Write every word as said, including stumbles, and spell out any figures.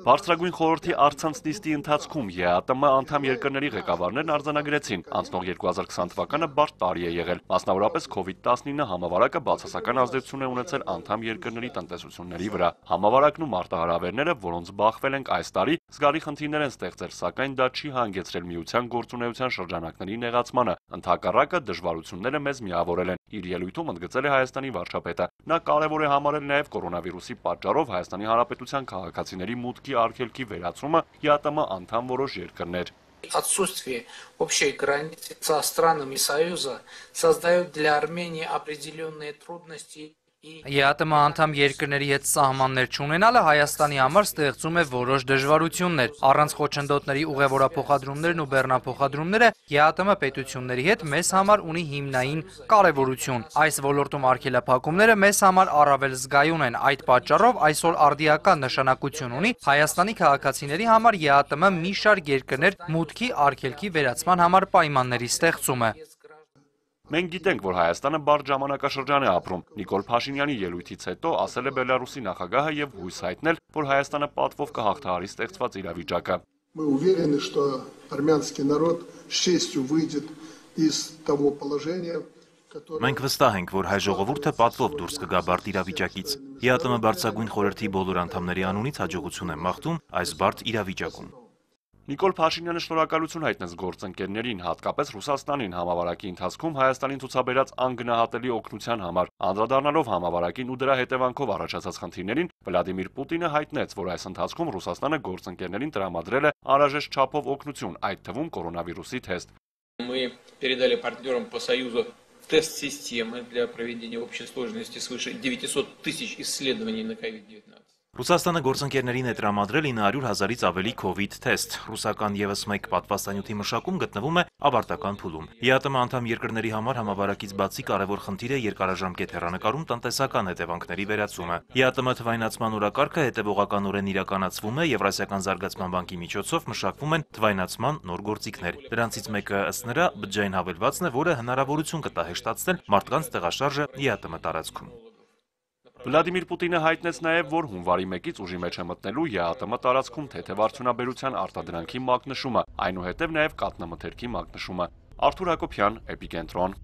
Բարձրագույն խորհրդի առցանց նիստի ընթացքում Է Ա Տը Մ անդամ երկրների ղեկավարներն արձանագրեցին, անցնող երկու հազար քսան թվականը բարդ տարի է եղել, մասնավորապես քովիդ տասնինը համավարակը բացասական ազդեցություն է ունեցել անդամ երկրների տնտեսությունների վրա։ Համավարակն ու մարտահրավերները, որոնց բախվել ենք այս տարի, զգալի խնդիրներ են ստեղծել, սակայն դա չի հանգեցրել միության գործունեության շրջանակների նեղացմանը, ընդհակառակը դժվարությունները մեզ միավորել են, իր ելույթում ընդգծել է Հայաստանի վարչապետը։ Նա կարևոր է համարել նաև կորոնավիրուսի պատճառով Հայաստանի Հանրապետության քաղաքացիների մուտքի արգելքի վերացումը Է Ա Տը Մ անդամ որոշ երկրներ։ Отсутствие общей границы со странами Союза создает для Армении определенные трудности. Է Ա Տը Մ անդամ երկրների հետ սահմաններ չունենալը Հայաստանի համար ստեղծում է որոշ դժվարություններ։ Առանց խոչընդոտների ուղևորափոխադրումներն ու բեռնափոխադրումները Է Ա Տը Մ պետությունների հետ մեզ համար ունի հիմնային կարևորություն։ Այս ոլորտում արգելափակումները մեզ համար առավել զգայուն են։ Այդ պատճառով այսօր արդիական նշանակություն ունի Հայաստանի քաղաքացիների համար Է Ա Տը Մ մի շարք երկրներ մուտքի արգելքի վերացման համար պայմանների ստեղծումը։ Մենք գիտենք, որ Հայաստանը բարդ ժամանակաշրջան է ապրում։ Նիկոլ Փաշինյանի ելույթից հետո ասել է Բելարուսի նախագահը եւ հույս հայտնել, որ Հայաստանը պատվով կհաղթահարի ստեղծված իրավիճակը։ Мы уверены, что армянский народ с честью выйдет из того положения. Մենք վստահ ենք, որ հայ ժողովուրդը պատվով դուրս կգա բարդ իրավիճակից։ Է Ա Տը Մ բարձրագույն խորհրդի բոլոր անդամների անունից հաջողություն եմ մաղթում այս բարդ իրավիճակում։ Նիկոլ Փաշինյանը շնորհակալություն հայտնեց գործընկերներին, հատկապես Ռուսաստանին համավարակի ընթացքում Հայաստանին ցուցաբերած անգնահատելի օգնության համար։ Անդրադառնալով համավարակին ու դրա հետևանքով առաջացած խնդիրներին, Վլադիմիր Պուտինը հայտնեց, որ այս ընթացքում Ռուսաստանը գործընկերներին տրամադրել է անհրաժեշտ չափով օգնություն, այդ թվում կորոնավիրուսի թեստ։ Мы передали партнерам по Союзу тест системы для проведения общей сложности свыше девятисот тысяч исследований на ковид девятнадцать. Ռուսաստանը գործընկերներին է տրամադրել ինը հարյուր հազարից ավելի քովիդ թեստ։ Ռուսական ևս մեկ պատվաստանյութի մշակում գտնվում է ավարտական փուլում։ Է Ա Տը Մ անդամ երկրների համար համավարակից բացի կարևոր խնդիր է երկարաժամկետ հեռանկարում տնտեսական հետևանքների վերացումը։ Է Ա Տը Մ թվայնացման օրակարգը հետևողականորեն իրականացվում է Եվրասիական զարգացման բանկի միջոցով մշակվում են թվայնացման նոր գործիքներ։ Դրանցից մեկը ըստ նրա բջջային հավելվածն է, որը հնարավորություն կտա հեշտացնել մարդկանց տեղաշարժը Է Ա Տը Մ տարածքում։ Վլադիմիր Պուտինը հայտնեց նաև, որ հունվարի մեկից ուժի մեջ է մտնելու Է Ա Տը Մ տարածքում թեթև արդյունաբերության արտադրանքի մակնշումը, այնուհետև նաև կաթնամթերքի մակնշումը։ Արթուր Հակոբյան, Էպիկենտրոն։